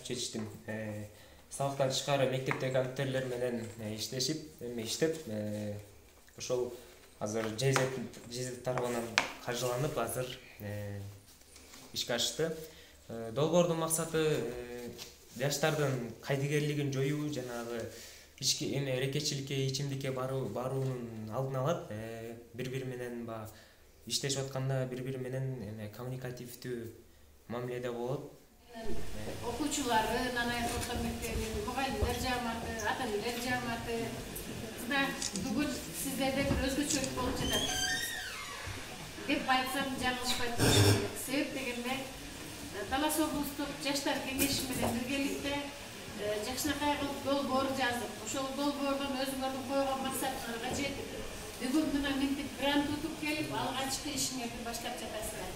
чечтим. Сабактан тышкары мектептеги компьютерлер менен иштеп, ошол азыр ЖЗ тарабынан каржыланып, азыр ишке ашты. Долбоордун максаты жаштардын кайдыгерлигин жоюу, жанагы эрекечиликке, ичимдикке баруунун алдын алат. Бири-бири менен иштешип атканда бири-бири менен коммуникативдүү мамиледе болот. Окуучулары, Нанайык орто мектебинин мугалимдер жааматы, ата-энелер жааматы бүгүн сиздерде бир өзгөчөлүк болуп жатат деп айтсам жаңылышпайт болуш керек. Себеп дегенде Талас облустук жаштар кеңеши менен биргеликте жакшынакай кылып долбоор жазып, ошол долбоордон өзүңөрдүн койгон максаттарга жетип, бүгүн мына мынтип грант утуп келип, алгачкы ишиңерди баштап жатасыздар.